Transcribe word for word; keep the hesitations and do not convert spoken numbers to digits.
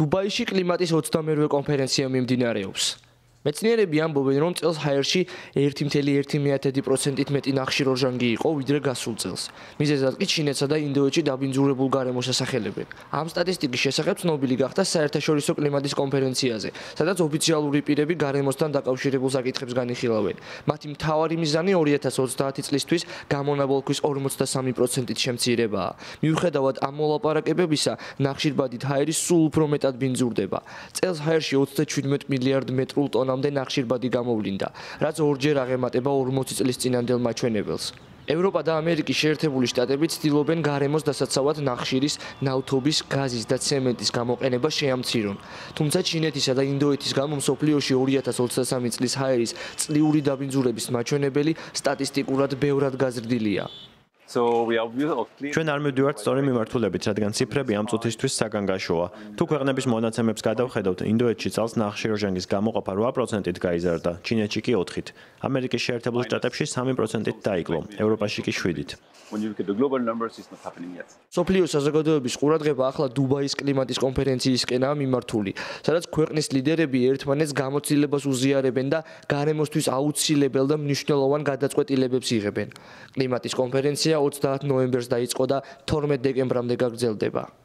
დუბაიში კლიმატის ოცდამერვე კონფერენცია მიმდინარეობს. მეცნიერები ამბობენ, რომ წელს ჰაერში ერთი წუთი ერთი პროცენტით მეტი ნახშირორჟანგი იყო, ვიდრე გასულ წელს. მიზეზად კი ჩინეთსა და ინდოეთში დაბინძურებულ გარემოს ასახელებენ. ამ სტატისტიკის შესახებ ცნობილი გახდა საერთაშორისო კლიმატის კონფერენციაზე, სადაც ოფიციალური პირები გარემოსთან დაკავშირებულ საკითხებს განიხილავენ. მათი მთავარი მიზანი ორი ათას ოცდაათი წლისთვის გამონაბოლქვის ორმოცდასამი პროცენტით შემცირებაა. მიუხედავად ამ მოლაპარაკებებისა, ნახშირბადით ჰაერი სულ უფრო მეტად ბინძურდება. წელს ჰაერში ოცდაშვიდმეტ მილიარდ მეტრულ ტონამდე ნახშირბადი გამოვლინდა, რაც ორჯერ აღემატება ორმოცი წლის წინანდელ მაჩვენებელს. ევროპა და ამერიკის შეერთებული შტატები ცდილობენ გარემოს დასაცავად ნახშირის, ნავთობის, გაზის და ცემენტის გამოყენება შეამცირონ. თუმცა ჩინეთისა და ინდოეთის გამო მსოფლიოში ორი ათას ოცდასამი წლის ჰაერის წლიური დაბინძურების მაჩვენებელი სტატისტიკურად ბევრად გაზრდილია. ჩვენ არ მივდივართ სწორი მიმართულებით, რადგან ციფრები ამ წუთისთვის საგანგაშოა. თუ ქვეყნების მონაცემებს გადავხედავთ, ინდოეთში წელს ნახშირორჟანგის გამოყოფა რვა პროცენტით გაიზარდა, ჩინეთში კი ოთხით. ამერიკის შეერთებულ შტატებში სამი პროცენტით დაიკლო, ევროპაში კი შვიდით. მსოფლიო საზოგადოების ყურადღება ახლა დუბაის კლიმატის კონფერენციისკენაა მიმართული, სადაც ქვეყნის ლიდერები ერთმანეთს გამოცდილებას უზიარებენ და გარემოსთვის აუცილებელ და მნიშვნელოვან გადაწყვეტილებებს იღებენ. კლიმატის კონფერენცია ოცდაათ ნოემბერს დაიწყო და თორმეტ დეკემბრამდე გაგრძელდება.